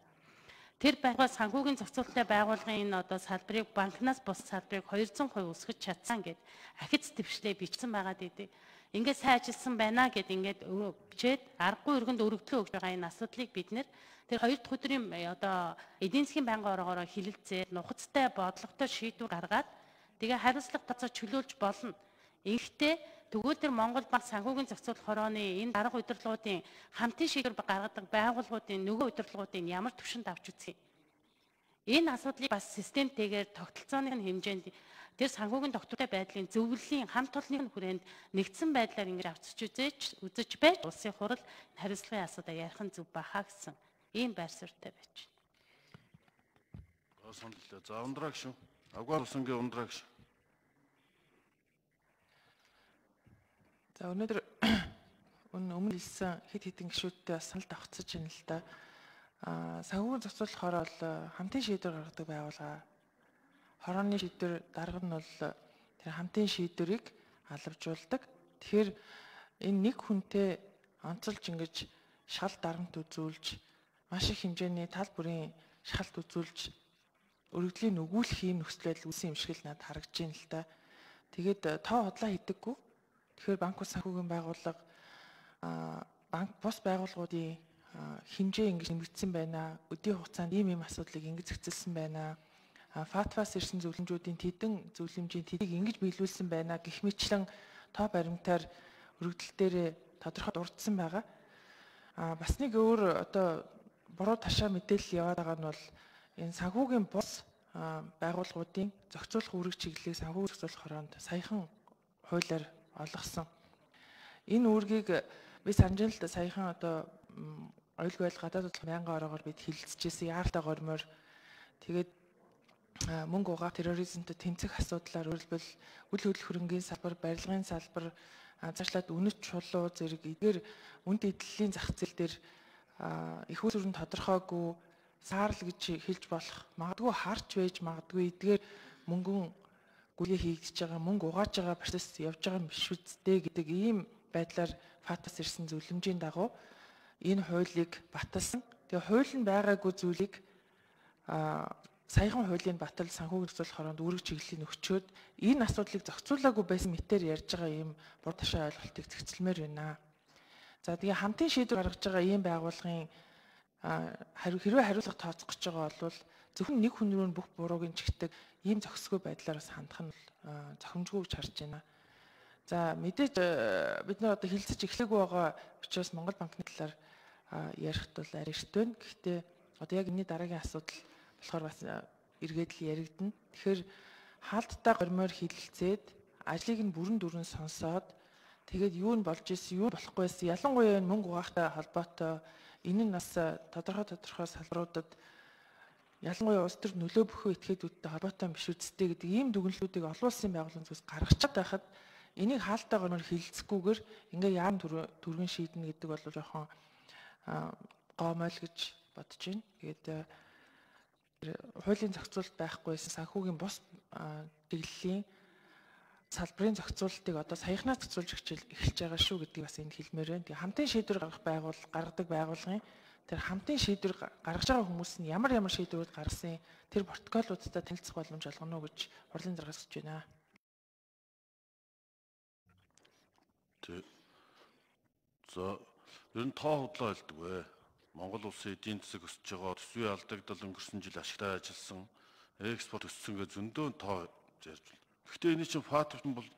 Тэр байгууллага санхүүгийн зохицуулалттай байгууллагын энэ одоо салбарыг банкнаас бус салбарыг two hundred percent өсгөж чадсан гэд ахиц твшлээ бичсэн байгаа гэдэг. Ингээд сайн ажилласан байна гэд ингээд бичээд аргагүй өргөнд өргөдлөө өгж байгаа энэ асуудлыг бид нэр тэр хоёр дахь өдрийн одоо эдийн засгийн байнгын ороогоор хилэлцээд нухацтай бодлоготой шийдвэр гаргаад тэгээ хариуцлага тооцоо чөлөөлж болно. Ингэхдээ тэгвэл тэр Монгол банк санхүүгийн зохицуулах хорооны энэ дарга удирдлагуудын хамтын шийдвэр гаргадаг байгууллагуудын нөгөө удирдлагуудын ямар түвшинд авч үзье. Энэ асуудлыг бас системтэйгээр тогтолцооны хэмжээнд тэр санхүүгийн доктортой байдлын зөвлөлийн хамт олонны хүрээнд нэгдсэн байдлаар ингэж авчиж үзэж үзэж байж улсын хурал хариуцлагын асуудал ярих нь зөв бахаа гэсэн ийм байр суурьтай байж байна. За ундраа гişүн. Агвар усангийн ундраа гişүн. За өнөөдөр өмнө хэлсэн хэд хэдэн гишүүдтэй бас санал тавцаж байна л да. Аа санхүүгийн зохицуулахаар бол хамтын шийдвэр гаргадаг байгууллага. Хорооны шийдвэр дарга нь бол тэр хамтын шийдвэрийг алавжуулдаг. Тэгэхээр энэ нэг хүнтэй онцолж ингэж шал дарамт үзүүлж маш их хэмжээний тал бүрийн шалт үзүүлж өргөдлийн өгүүлэх юм нөхцөл байдал үүсэн юм шиг л надад харагдаж байна л да. Тэгээд тоо хотлоо хийдэггүй. Тэгэхээр банк ус санхүүгийн байгууллага банк бус байгууллагуудын хэмжээ ингэж нэмэгдсэн байна. Өдийн хугацаанд ийм ийм асуудлыг ингэж зохицуулсан байна. ФАТФ-аас ирсэн зөвлөмжүүдийн тэдэн зөвлөмжийн тэдийг ингэж биелүүлсэн байна гэх мэтлэн тоо баримтаар өргөдөл дээр тодорхой дурдсан байгаа. А бас нэг өөр одоо буруу ташаа мэдээлэл яваад байгаа нь бол энэ санхүүгийн бус байгууллагуудын зохицуулах үүрэг чиглэлийг санхүү зохицуулах хороонд саяхан хуулиар олгосон. Энэ үүргийг би санаж л саяхан одоо оюулгүй байдал гадаад бодлого мянган ороогоор бид хилцчихсэн яартай гормоор тэгээд мөнгө угаах терроризмтэй тэмцэх асуудлаар өөрөлдвөл үйл хөдлөх хөрөнгийн салбар, барилгын салбар, цаашлаад үнэт чулуу зэрэг эдгээр үнд эдлийн зах зээл дээр их үүрэн тодорхойгүй саарл гэж хэлж болох магадгүй харж байж магадгүй эдгээр мөнгөн гүлээ хийгдэж байгаа мөнгө угааж байгаа процесс явж байгаа юм биш үсттэй гэдэг ийм байдлаар ФАТФ-аас ирсэн зөвлөмжийн дагуу энэ хуулийг баталсан. Тэгээ хууль нь байгаагүй зүйлийг саяхан хуулийн батал санхүүгийн зохицуулах хороонд үүрэг чиглэлийн өгчөөд энэ асуудлыг зохицуулаагүй байсан мэтээр ярьж байгаа ийм бур ташаа ойлголтыг зохицолмоор байна. За тэгээ хамтын шийдвэр гаргаж байгаа ийм байгууллагын хэрвээ хариуцлага тооцох гэж байгаа бол зөвхөн нэг хүн рүү бүх бурууг нь чигтдэг ийм зохисгүй байдлаар бас хандах нь зохимжгүй гэж харж байна. За мэдээж бид нар одоо хилцэж эхлэхгүй байгаа учраас Монгол банкны талаар ярихт бол арай эрт байна. Гэхдээ одоо яг энэний дараагийн асуудал болохоор бас эргээд л яригдана. Тэгэхээр хаалттай гормоор хилэлцээд ажлыг нь бүрэн дүрэн сонсоод тэгээд юу нь болж исэн, юу болохгүй байсан, ялангуяа мөнгө угаахтай холбоотой энэ нь бас тодорхой тодорхой салбаруудад ялангуяа улс төр нөлөө бүхөө этгээдүүдтэй холбоотой биш үсттэй гэдэг ийм дүгнэлтүүдийг олон улсын байгууллагын зүгээс гаргаж байхад энийг хаалттай гормоор хилэлцэхгүйгээр ингээ яам түргэн шийднэ гэдэг бол жоохон гомойл гэж бодож байна. Тэгээд хуулийн зохицуулалт байхгүйсэн санхүүгийн бус чиглэлийн салбарын зохицуулалтыг одоо саяхнаас зохицуулж эхэлж байгаа шүү гэдгийг бас энд хэлмээр байна. Тэгээ хамтын шийдвэр гаргах байгуул гаргадаг байгууллагын тэр хамтын шийдвэр гаргаж байгаа хүмүүс нь ямар ямар шийдвэрүүд гаргасан тэр протоколуудтай танилцах боломж олгоно уу гэж хурлын даргаас гэж байна. За ер нь тоо худлаа хэлдэг вэ. Монгол улсын эдийн засаг өсөж байгаа, төсвийн алдагдал өнгөрсөн жил ашигтай ажилласан, экспорт өссөн гэж зөндөө тоо ярьж байна. Гэхдээ энэ чинь ФАТФ нь бол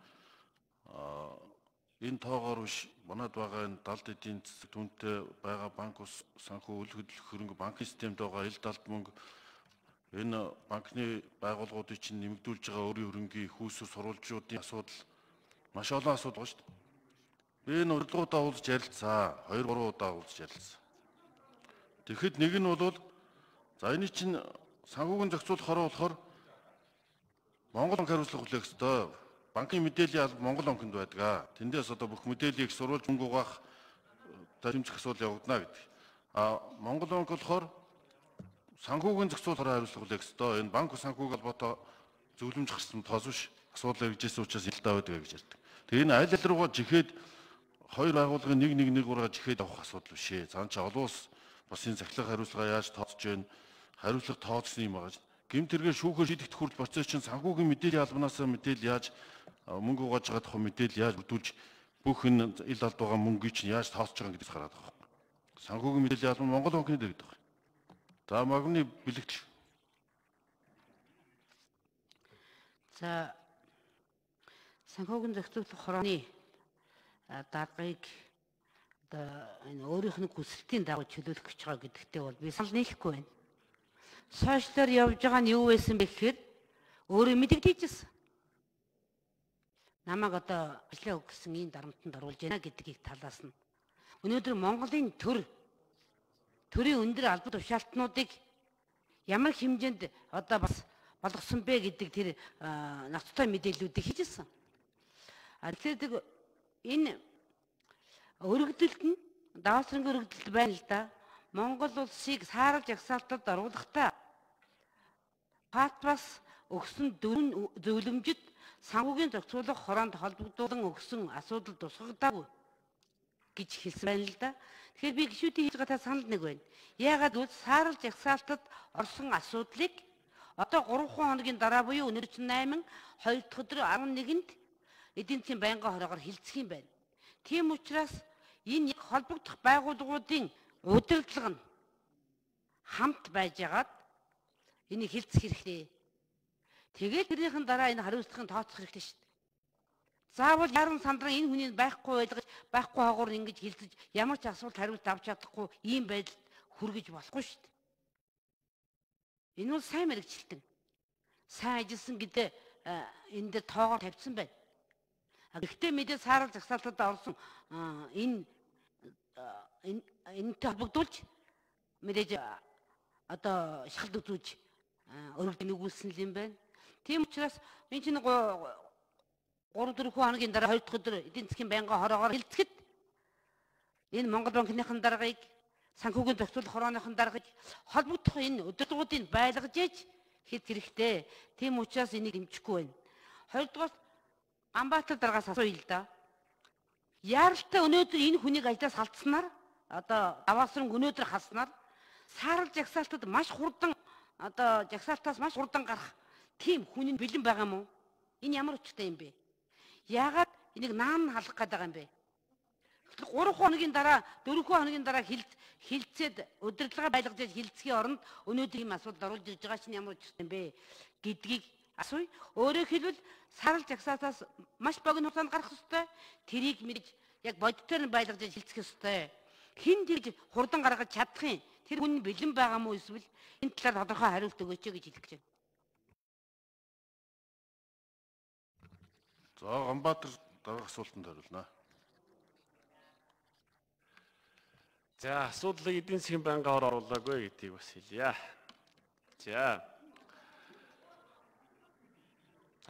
энэ тоогоор биш манад байгаа энэ далд эдийн засаг түнтэй байгаа банк ус санхүү үйл хөдлөх хөрөнгө банкны системд байгаа ил далд мөнгө энэ банкны байгууллагуудыг чинь нэмэгдүүлж байгаа өөрийн хөрөнгийн их усүр сурвалжуудын асуудал маш олон асуудал байна шүү дээ. Би энэ урилгуудаа уулзж ярилцсан. Хоёр гурван удаа уулзж ярилцсан. Тэгэхэд нэг нь бол За энэ чинь санхүүгийн зохицуулах хороо болохоор Монгол банк хариуцлага хүлээх ёстой. Банкны мэдээллийн алба Монгол банкнд байдаг. Тэндээс одоо бүх мэдээллийг сурвалж мөнгө угаах тэмцэх асуудал явагдана гэдэг. А Монгол банк болохоор санхүүгийн зохицуулах хороо хариуцлага хүлээх ёстой. Энэ банк санхүүг холбоотой зөвлөмж гарсан тоос биш асуудал хэрэгжсэн учраас илдаа байдаг гэж ярьдаг. Тэгээ энэ аль аль руугаа жихэд хоёр байгууллагын нэг нэг нэг ураа жихэд авах асуудал биш ээ. Цаан чи олон улс басын захилах хариуцлага яаж тооцож байна? Хариуцлага тооцсон юм байгаа. Гэмт тэргээр шүүхээр шийдэгдэх хүртэл процесс чинь санхүүгийн мэдээллийн албанаас мэдээлэл яаж мөнгө угааж байгаа тухай мэдээлэл яаж бүрдүүлж бүх энэ ил алд байгаа мөнгөийг чинь яаж тооцож байгаа гэдэгс гараад байгаа. Санхүүгийн мэдээллийн албан Монгол банкны дээр гэдэг. За магны бэлэгдэл. За санхүүгийн зохицуулах хорооны даргыг одоо энэ өөрийнх нь хүсэлтийн дагуу чөлөөлөх гэж байгаа гэдэгтээ бол би санал нийлэхгүй байна. Сошиалор явж байгаа нь юу байсан бэ гэхээр өөрөө мэдэгдээжсэн. Намайг одоо ажлаа өгсөн ийм дарамтанд оруулж байна гэдгийг талаас нь. Өнөөдөр Монголын төр төрийн өндөр албад тушаалтнуудыг ямар хэмжээнд одоо бас болгосон бэ гэдэг тэр ноцтой мэдээллүүдийг хийжсэн. А тэгэхээр энэ өргөдөлт нь даваасрангийн өргөдөлт байна л да. Монгол улсыг саарал жагсаалтад оруулахдаа Патпас өгсөн дөрвөн зөвлөмжөд санхүүгийн зохицуулах хороонд холбогдуулан өгсөн асуудал тусгагдаагүй гэж хэлсэн байна л да. Тэгэхээр би гишүүдийн хийж байгаа санал нэг байна. Яагаад гэвэл саарал жагсаалтад орсон асуудлыг одоо гурван хоногийн дараа буюу өнөөдөр чинь найман хоёр дахь өдөр арван нэгэнд эдийн засгийн байнгын хороогоор хилцэх юм байна. Тийм учраас энэ холбогдох байгууллагуудын удирдлага нь хамт байжгаад энийг хилцэх хэрэгтэй. Тэгээд тэрнийхэн дараа энэ хариуцлагын тооцох хэрэгтэй шүү дээ. Заавал яран сандран энэ хүний байхгүй байлгаж байхгүй хаагуур ингэж хилцэж ямар ч асуулт хариулт авч чадахгүй ийм байдалд хүргэж болохгүй шүү дээ. Энэ бол сайн мэрэгчлэн. Сайн ажилласан гэдэг энэ дээр тоогоор тавьсан байна. Гэхдээ мэдээ саарал жагсаалтад орсон энэ энэтэй холбогдуулж мэдээж одоо шахалт үзүүлж өргөдөлтөнд өгүүлсэн юм байна. Тийм учраас энэ чинь гурав дөрвөн хоногийн дараа хоёр дахь өдөр эдийн засгийн байнгын хороогоор хилцэхэд энэ Монгол банкныхын даргаыг санхүүгийн зохицуулах хорооныхын даргаыг холбогдох энэ удирдлагуудыг байлгаж ээж хэд хэрэгтэй. Тийм учраас энийг дэмжихгүй байна. Хоёрдугаар Амбатар даргаас асууя л да. Яаралтай өнөөдөр энэ хүнийг ажлаас халдснаар одоо даваасран өнөөдөр хаснаар саарал жагсаалтад маш хурдан одоо жагсаалтаас маш хурдан гарах тийм хүний бэлэн байгаа юм уу? Энэ ямар учиртай юм бэ? Яагаад энийг наан халах гээд байгаа юм бэ? гурван хоногийн дараа дөрвөн хоногийн дараа хилд хилцээд удирдлага байлгаж хилцхийн оронд өнөөдөр ийм асуудал оруулж ирж байгаа чинь ямар учиртай юм бэ гэдгийг асууя. Өөрөөр хэлбэл сарал жагсаалтаас маш богино хугацаанд гарах ёстой. Тэрийг мэдж яг бодитоор нь байлгаж хилцэх ёстой. Хин тэгж хурдан гаргаж чадах юм. Тэр хүн бэлэн байгаа мó эсвэл энэ талаар тодорхой хариулт өгөөч гэж хэлэх гэж байна. За Ганбаатар дараах асуултанд хариулна. За асуудлыг эдийн засгийн байнгын хор оруулаагүй гэдгийг бас хэлье. За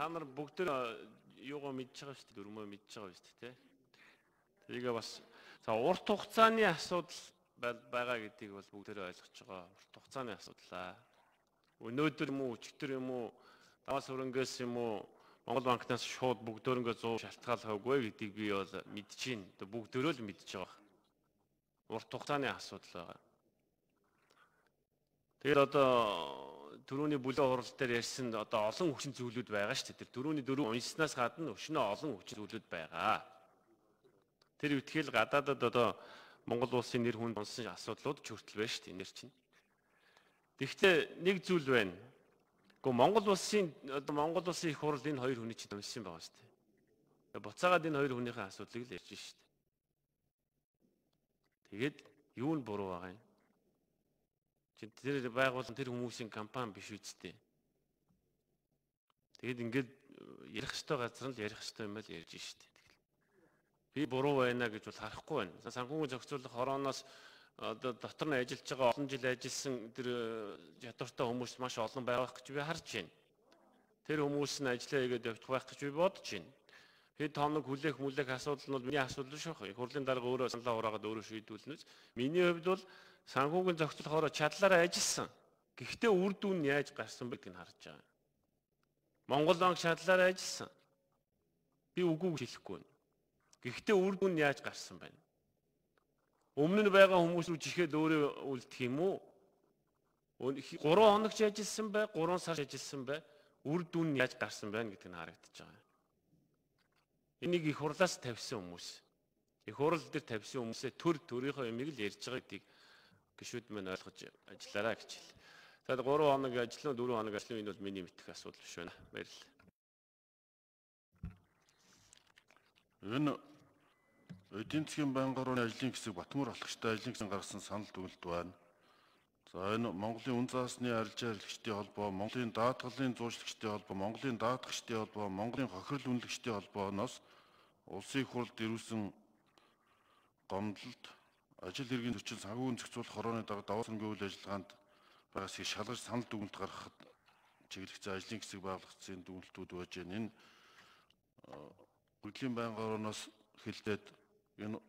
та нар бүгд юугаа мэдж байгаа шүү дээ, дөрмөө мэдж байгаа шүү дээ, тэрийгээ бас за урт хугацааны асуудал байгаа гэдгийг бол бүгдээрээ ойлгож байгаа. Урт хугацааны асуудлаа. Өнөөдөр юм уу, өчигдөр юм уу, даваас хөрөнгөөс юм уу, Монгол банкнаас шууд бүгдөө зуун шалтгаалгаагүй гэдгийг би бол мэдж байна. Бүгдөө л мэдж байгаа. Урт хугацааны асуудал байгаа. Тэгээд одоо түрүүний бүлээн хурал дээр ярьсан одоо олон хүчин зүйлүүд байгаа шүү дээ. Тэр түрүүний дөрөв уншснаас гадна өшнөө олон хүчин зүйлүүд байгаа. Тэр үтгэл гадаадад одоо Монгол улсын нэр хүнд онсон асуудлууд ч хүртэл байна шүү дээ нэр чинь. Тэгэхдээ нэг зүйл байна. Гэхдээ Монгол улсын одоо Монгол улсын их хурал энэ хоёр хүний чинь уншсан байгаа шүү дээ. Буцаагаад энэ хоёр хүнийхээ асуудлыг л ярьж шүү дээ. Тэгээд юу нь буруу байгаа юм? Тэр байгууллага тэр хүмүүсийн компани биш үсттэй. Тэгэд ингээд ярих ёстой газар нь л ярих ёстой юм байл ярьж штэ. Би буруу байна гэж бол харахгүй байна. Санхүүгийн зохицуулах хорооноос одоо дотор нь ажиллаж байгаа олон жил ажилласан тэр ядууртай хүмүүс маш олон байх гэж би харж байна. Тэр хүмүүс нь ажиллаа хийгээд явах байх гэж би бодож байна. Хэд хоног хүлээх мүлээх асуудал нь бол миний асуудал шүү. Их хурлын дарга өөрөө саналаа ураагаад өөрөө шийдүүлнэ. Миний хувьд бол санхүүгийн зохицуулахоор чадлаараа ажилласан. Гэхдээ үр дүн нь яаж гарсан бэ гэдгийг харж байгаа. Монгол банк чадлаараа ажилласан. Би үгүй гэж хэлэхгүй байна. Гэхдээ үр дүн нь яаж гарсан байна? Өмнө нь байгаа хүмүүс рүү жихэд өөрөө үлдэх юм уу? гурван хоног ч ажилласан бай, гурван сар ажилласан бай. Үр дүн нь яаж гарсан байна гэдгийг харагдаж байгаа. Энийг их хурлаас тавьсан хүмүүс. Их хурл дээр тавьсан хүмүүсээ төр төрийнхөө юмыг л ярьж байгаа гэдгийг гишүүд мань ойлгож ажиллаарай гэж хэл. За гурван хоног ажиллана, дөрвөн хоног ажиллана, энэ бол миний мэдэх асуудал биш байна. Баярлалаа. Энэ эдийн засгийн байнгын орны ажлын хэсэг Батмөр алхагчтай ажлын хэсэг гаргасан санал дүгнэлт байна. За энэ Монголын үн заасны арилжаа хэрэглэгчдийн холбоо, Монголын даатгалын зуучлагчдын холбоо, Монголын даатгагчдын холбоо, Монголын хохирол үнэлэгчдийн холбооноос улсын их хурлд ирүүлсэн гомдлолд ажил хэргийн зөрчил санхүүгийн зохицуулах хорооны дарга даваа цэнгэн үйл ажиллагаанд байгаас шалгаж санал дүгнэлт гаргахад чиглэгдсэн ажлын хэсэг байгуулагдсан дүгнэлтүүд байж байна. Энэ Урьдчилан байнгын орноос хэлээд энэ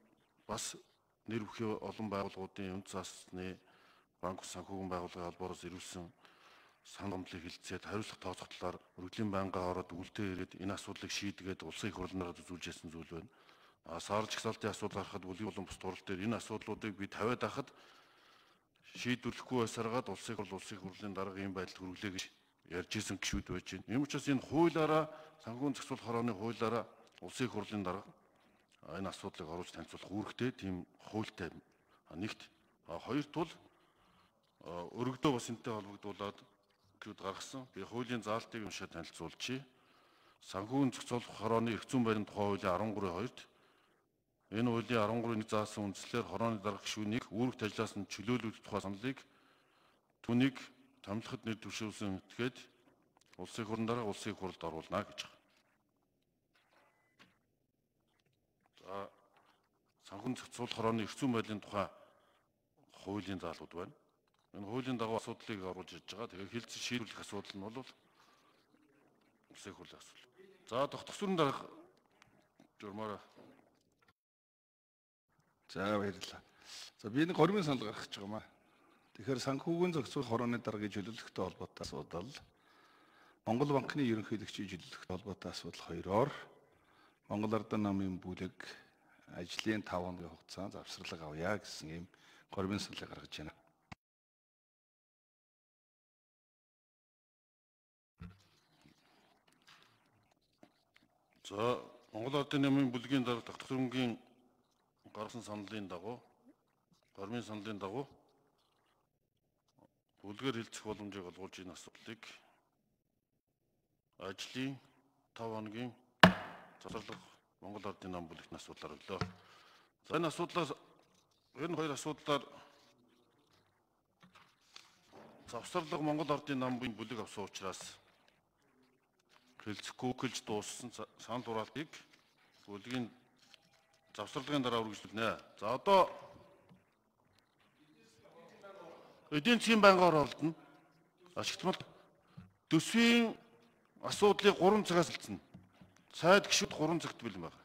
бас нэр бүхий олон байгууллагуудын үн заасны банк санхүүгийн байгууллагын холбоороос ирүүлсэн санал гомдлыг хилцээд хариуцлага тооцох талаар Урьдчилан байнгын ороод үлдээ ирээд энэ асуудлыг шийдгээд улсын их хурлаараа үзүүлж ясан зүйл байна. А сар жагсаалтын асуудал гарахад бүлгийн болон бус турал дээр энэ асуудлуудыг би тавиад байхад шийдвэрлэхгүй байсараад улсын их хурл улсын их хурлын дарга ийм байдалд хүргэлээ гэж ярьж исэн гişүүд байж байна. Ийм учраас энэ хуулиараа санхүүгийн зохицуулах хорооны хуулиараа улсын их хурлын дарга энэ асуудлыг оруулж танилцуулах үүрэгтэй тийм хуультай нэгт хоёрт бол өргөдөө бас энэтэй холбогдуулаад гэд гаргасан. Би хуулийн заалтыг уншаад танилцуулчихъя. Санхүүгийн зохицуулах хорооны эрх зүйн баримт тухай хуулийн арван гурван хоёрт энэ хуулийн арван гурван заасан үндслээр хорооны дарга гишүүнийг үүрэгт ажиллаас нь чөлөөлөх тухай саналыг түүнийг томилоход нэр дэвшүүлсэн этгээд улсын их хурлын дарга улсын их хурлд оруулна гэж байна. За санхүүгийн зохицуулах хорооны эрх зүйн байдлын тухай хуулийн заалууд байна. Энэ хуулийн дагуу асуудлыг оруулж ирж байгаа. Тэгэхээр хэлцэж шийдвэрлэх асуудал нь бол улсын их хурлын асуудал. За тогтгосрын дарга журмаараа. За баярлалаа. За би нэг хоригын санал гаргах гэж байгаа маа. Тэгэхээр санхүүгийн зохицуулах хорооны даргыг чөлөөлөхтэй холбоотой асуудал, Монгол банкны ерөнхийлөгчийн чөлөөлөхтэй холбоотой асуудал хоёроор Монгол Ардын намын бүлэг ажлын таван хоногийн хугацаанд завсралга авъя гэсэн ийм хоригын саналыг гаргаж байна. За Монгол Ардын намын бүлгийн дарга тогтворонгийн гаргасан саналын дагуу, хоригын саналын дагуу бүлгээр хилцэх боломжийг олгуулж энэ асуудлыг ажлын таван хоногийн завсарлага Монгол Ардын нам бүлэгт асуудлаар өглөө. За энэ асуудлаас энэ хоёр асуудлаар завсарлага Монгол Ардын намын бүлэг авсан учраас хэлцэхгүй гэлж дууссан санал хураалтыг бүлгийн завсарлагын дараа үргэлжлүүлнэ. За одоо эдийн засгийн байнгын оролдоно. Ашигтмал төсвийн асуудлыг гурван цагаас хэлсэн. Сайд гишүүд гурван цагт бэлэн байна.